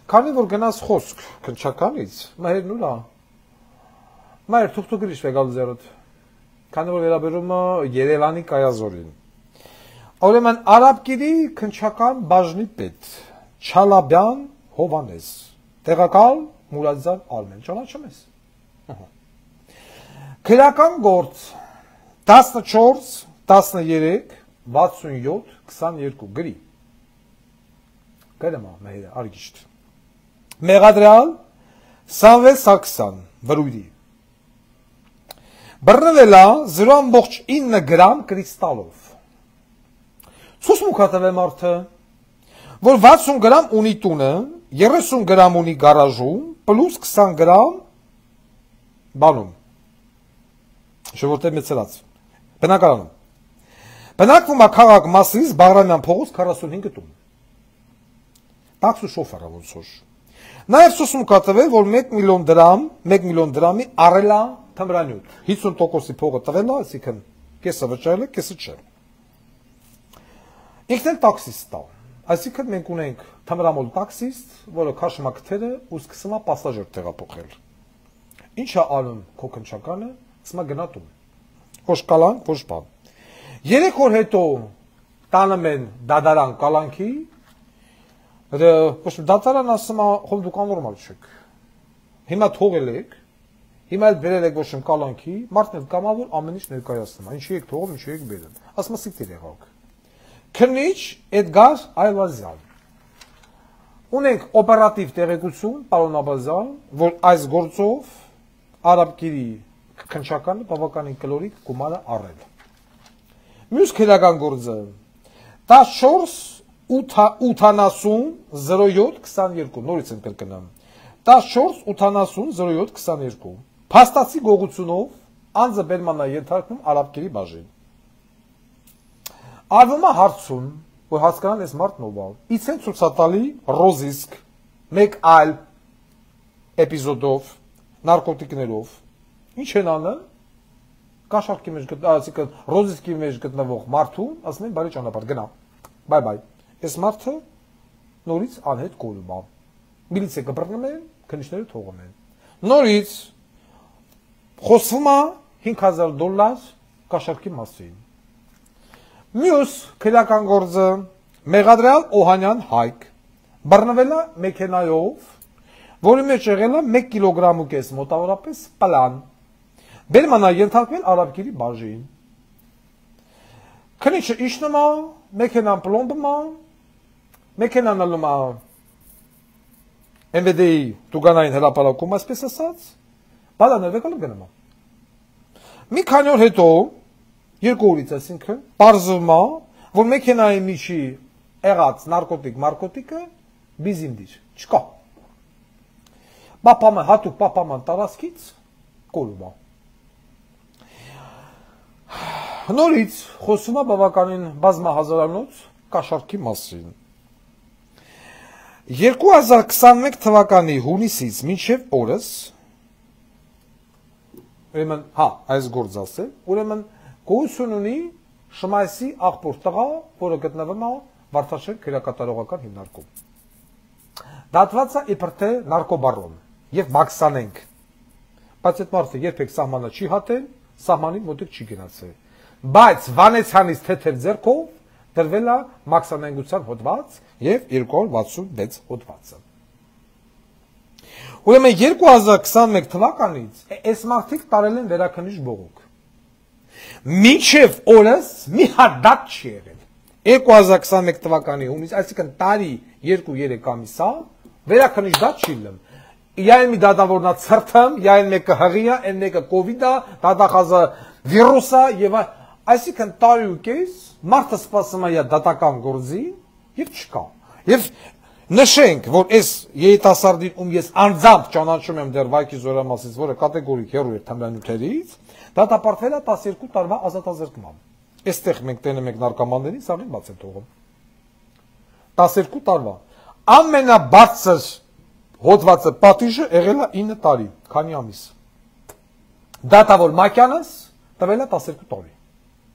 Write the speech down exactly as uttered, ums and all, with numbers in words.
Քանի որ գնաց խոսք քնչականից, մայրն ուրա։ Մայր թուղթու գրիշ վեգալ զերոտ։ Քանի որ վերաբերում է Երևանի կայազորին։ Ուրեմն արաբկիրի քնչական բաժնի պետ Չալաբյան Հովանես, տեղակալ Մուրադզար Արմեն, ճանաչում ես։ Քրական գործ տասնչորս տասներեք վաթսունյոթ քսաներկու գրի։ Գրեմա մայրը արգիշտ։ Մեղադրյալ Սամվել Սարգսյան վրույրի։ Բռնվելա զրո ամբողջ ինը գրամ կրիստալով։ Ցույց մուքատավ է մարդը, որ վաթսուն գրամ ունի տունը, երեսուն գրամ ունի գարաժում, պլյուս քսան գրամ բանում։ Շորտե մեծրած։ Բնակարանում։ Բնակվում է քաղաք Մասիս Բաղրամյան փողոց քառասունհինգ տուն։ Տաքսու շոֆերը ոնց որ։ Նաև ցույց մուքատավ է, որ մեկ միլիոն դրամ, մեկ միլիոն դրամի առելա թմրանյութ։ հիսուն տոկոսի փողը տվել է, այսինքն կեսը վճարել է, կեսը չէ։ Ինքն էլ տաքսիստ է։ Այսինքն մենք ունենք թմրամոլ տաքսիստ, որը քաշում է քթերը ու սկսում է պասաժեր տեղափոխել։ Ինչ է անում քո քնչականը, ասում է գնա տուն։ Ոչ կալանք, ոչ բան։ Երեք օր հետո տանում են դադարան կալանքի, ոչ դատարան ասում է, խոմ դուք անորմալ չեք։ Հիմա թողել եք, հիմա էլ բերել եք ոչ կալանքի, մարդն էլ կամավոր ամեն ինչ ներկայացնում է, ինչի եք թողում, ինչի եք բերել։ Ասում է սիկտիր եղաք։ Քննիչ Էդգար Այվազյան։ Ունենք օպերատիվ տեղեկություն, պարոն Աբազյան, որ այս գործով արաբկիրի քնչականը բավականին կլորիկ գումար է առել։ Մյուս քրական գործը տասնչորս ութանասուն զրո յոթ քսաներկու, նորից եմ կրկնամ, տասնչորս ութանասուն զրո յոթ քսաներկու, փաստացի գողությունով անձը բերման է ենթարկվում արաբկիրի բաժին։ Արվում է հարցում, որ հասկանան այս մարդն ով է, իցեն ցուցատալի ռոզիսկ, մեկ այլ էպիզոդով, նարկոտիկներով, ինչ են անում, կաշառքի մեջ գտնվող, ռոզիսկի մեջ գտնվող մարդուն, ասում են բարի ճանապարհ, գնա, բայ բայ, այս մարդը նորից անհետ կորում է, միլիցիա կբռնում են, քննիչները թողում են, նորից խոսվում է հինգ հազար դոլար կաշառքի մասին։ Մյուս քրական գործը Մեղադրյալ Օհանյան Հայկ բռնվել է մեքենայով, որի մեջ եղել է մեկ կիլոգրամ ու կես մոտավորապես պլան։ Բերման է ենթարկվել արաբկիրի բաժին։ Քննիչը իջնում է, մեքենան պլոմբում է, մեքենան ալնում է Էմ վե դե-ի տուգանային հրապարակում, այսպես ասած, բալաներ վեկալում գնում է։ Մի քանի օր հետո երկու օրից այսինքն պարզվում է, որ մեքենայի միջի եղած նարկոտիկ մարկոտիկը բիզիմդիր չկա։ Պապաման, հատուկ պապաման տարածքից կորում է։ Նորից խոսում է բավականին բազմահազարանոց կաշառքի մասին։ երկու հազար քսաներեք թվականի հունիսից մինչև օրս, ուրեմն, հա, այս գործ ասել, ուրեմն գոյություն ունի Շմայսի աղբոր տղա, որը գտնվում է Վարդաշեն քրեակատարողական հիմնարկում։ Դատված է իբր թե նարկոբարոն եւ մաքսանենք։ Բայց այդ մարդը երբեք սահմանը չի հատել, սահմանի մոտիկ չի գնացել։ Բայց Վանեցյանից թեթև ձեռքով դրվել է մաքսանենգության հոդված եւ երկու հարյուր վաթսունվեց հոդվածը։ Ուրեմն երկու հազար քսաներեք թվականից այս մարդիկ տարել են վերաքննիչ բողոք։ Մինչև օրս մի հատ դատ չի եղել։ երկու հազար քսաներեք թվականի հունիս, այսինքն տարի երկու երեք ամիս է, վերաքննիչ դատ չի ելնում։ Յայն մի դատավորնա ցրթեմ, յայն մեկը հղի է, այն մեկը կովիդ է, դատախազը վիրուս է եւ այսինքն տարի ու կես մարդը սպասում է դատական գործի եւ չկա։ Եվ նշենք, որ այս երիտասարդին ում ես անձամբ ճանաչում եմ դեռ Վայքի Զորամասից, որը կատեգորիկ հեռու էր թմրանյութերից, դատապարտվել է տասներկու տարվա ազատազրկման։ Այստեղ մենք տենեմ ենք նարկոմաններին, սաղին բաց են թողում։ տասներկու տարվա։ Ամենաբարձր հոդվածը պատիժը եղել է ինը տարի, քանի ամիս։ Դատավոր Մակյանս տվել է տասներկու տարի։